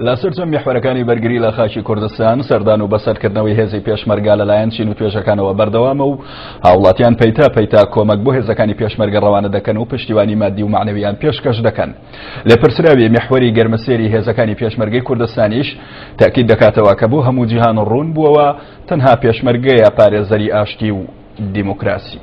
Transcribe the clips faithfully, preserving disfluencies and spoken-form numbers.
لە سەرجەم میحوەرەکانی بەرگری لە خاکی کوردستان سەردان و بەسەرکردنەوەی هێزی پێشمەرگە لەلایەن چین و توێژەکانەوە بەردەوامە و هاوڵاتیان پەیتا پەیتا کۆمەک بۆ هێزەکانی پێشمەرگە ڕەوانە دەکەن و پشتیوانی مادی و مەعنەویان پێشکەش دەکەن. لێپرسراوی میحوەری گەرمەسێری هێزەکانی پێشمەرگەی کوردستانیش تاکید دەکاتەوە کە بۆ هەموو جیهان ڕوون بووەوە تەنها پێشمەرگەیە پارێزەری ئاشتی و دیموکراسی.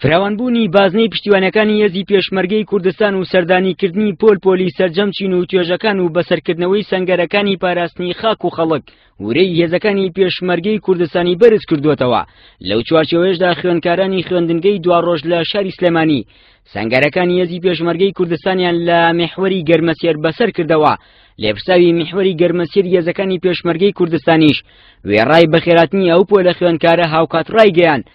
فراوانبوونی بازنەی پشتیوانەکانی هێزی پێشمەرگەی کوردستان و سەردانیکردنی پۆل پۆلی سەرجەم چین و توێژەکان و بەسەرکردنەوەی سەنگەرەکانی پاراستنی خاک و خەڵک ورەی هێزەکانی پێشمەرگەی کوردستانی بەرز کردووەتەوە. لەو چوارچێوەیەشدا خوێندکارانی خوێندنگەی دواڕۆژ لە شاری سلێمانی سەنگەرەکانی هێزی پێشمەرگەی کوردستانیان لە میحوەری گەرمەسێر بەسەر کردەوە. لێپرساوی میحوەری گەرمەسێر هێزەکانی پێشمەرگەی کوردستانیش وێڕای بەخێراتنی ئەو پۆلە خوێندکارە هاوکات ڕایگەیاند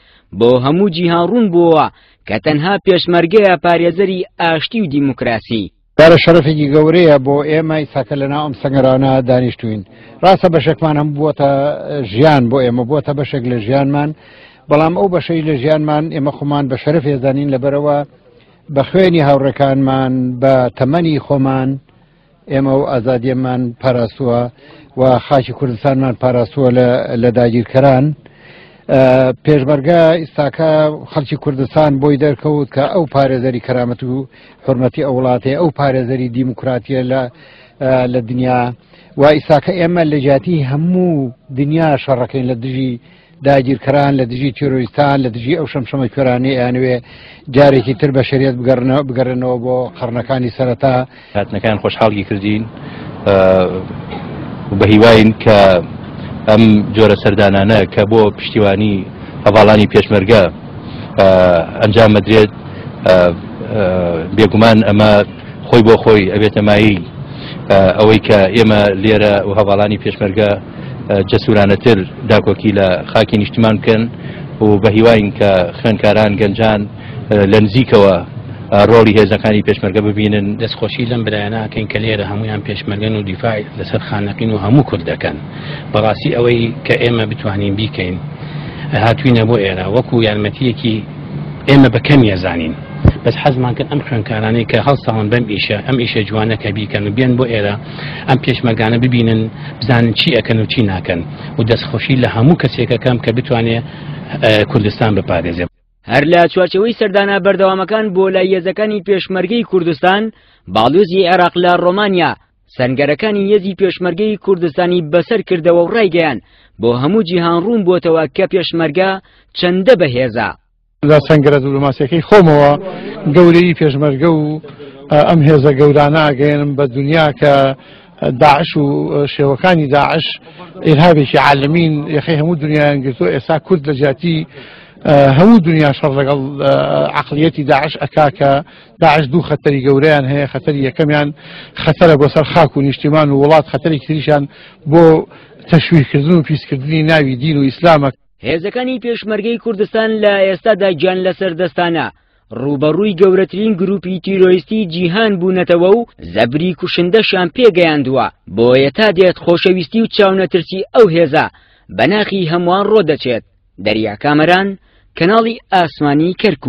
بۆ هەموو جیهان ڕوون بووەوە کە تەنها پێشمەرگەیە پارێزەری ئاشتی و دیموکراسی. کارە شەرەفێکی گەورەیە بۆ ئێمە ئیساکە لەناو ئەم سەنگەرانە دانیشتوین. ڕاستە بەشێکمان هەم بووەتە ژیان بۆ ئێمە، بووەتە بەشێک لە ژیانمان، بەڵام ئەو بەشەی لە ژیانمان ئێمە خۆمان بە شەرەف هێزانین لەبەرەوە بە خوێنی هاوڕێکانمان بە تەمەنی خۆمان ئێمە و ئازادیەمان پاراستووە و خاکی کوردستانمان پاراستووە لە داگیرکەران. پێشمەرگە ئیستاکە خەڵکی کوردستان بۆی دەرکەوت کە ئەو پارێزەری کەرامەت و حرمەتی ئەو وڵاتەیە، ئەو پارێزەری دیموکراتیە لە دنیا و ئیستاکە ئێمە لە جیاتی هەموو دنیا شەڕەکەین لە دژی داگیرکەران، لە دژی تیرۆریستان، لە دژی ئەو شەمشەمە کوێرانەی ئەیانەوێ جارێکی تر بەشەریەت بگەڕێنەوە بۆ قەرنەکانی سەرەتا. هاتنەکان خۆشحاڵی کردین و بە هیواین کە ئەم جۆرە سەردانانە کە بۆ پشتیوانی هەواڵانی پێشمەرگە ئەنجام مەدرێت، بێگومان ئەمە خۆی بۆ خۆی ئەبێتە مایەی ئەوەی کە ئێمە لێرە و هەواڵانی پێشمەرگە جەسورانەتر داکۆکی لە خاکی نیشتمان بکەن و بە هیواین کە خوێندکاران گەنجان لە نزیکەوە ڕۆڵی هێزەکانی پێشمەرگە ببینن. دەستخۆشی لەم برایانەکەین کە لێرە هەمویان پێشمەرگەن و دیفاع لەسەر خانەقین و هەموو کورد دەکەن. بەڕاستی ئەوەی کە ئێمە بتوانین بیکەین هاتوینە بۆ ئێرە وەکو یارمەتیەکی ئێمە بە کەم یەزانین، بەس حەزمان کرد ئەم خوێندکارانەی کە هەڵساون بەم ئیشە، ئەم ئیشە جوانە کە بیکەن و بێن بۆ ئێرە ئەم پێشمەرگانە ببینن، بزانن چی ئەکەن و چی ناکەن و دەستخۆشی لە هەموو کەسێکەکەم کە بتوانێت کوردستان بپارێزێ. هەر لە چوارچێوەی سەردانە بەردەوامەکان بۆ لای هێزەکانی پێشمەرگەی کوردستان، باڵیۆزی عێراق لە ڕۆمانیا سەنگەرەکانی هێزی پێشمەرگەی کوردستانی بەسەر کردەوە و ڕایگەیاند بۆ هەموو جیهان ڕوون بۆتەوە کە پێشمەرگە چەندە بەهێزە. لە سەنگەرە دیپلۆماسیەکەی خۆمەوە گەورەی پێشمەرگە و ئەم هێزە گەورانە ئاگەیەنم بە دنیا کە داعش و شێوەکانی داعش ئیرهابێکی عالەمین یەخەی هەموو دنیایان گرتووە. ئێستا کورد لە جیاتی هەموو دنیا شەڕ لەگەڵ عەقڵیەتی داعش ئەکا کە داعش دوو خەتەری گەورەیان هەیە. خەتەری یەکەمیان خەتەرە بۆ سەر خاک و نیشتیمان و وڵات، خەتەری تریشیان بۆ تەشویهکردن و پیسکردنی ناوی دین و ئیسلامە. هێزەکانی پێشمەرگەی کوردستان لە ئێستادا گیان لەسەر دەستانە ڕووبەڕووی گەورەترین گروپی تیرۆریستی جیهان بوونەتەوە و زەبری کوشندەشیان پێگەیاندووە. بۆیە تا دێت خۆشەویستی و چاونەترسی ئەو هێزە بەناخی هەمووان ڕۆدەچێت. دەریا کامەران، کەناڵی ئاسمانی کەرکوو.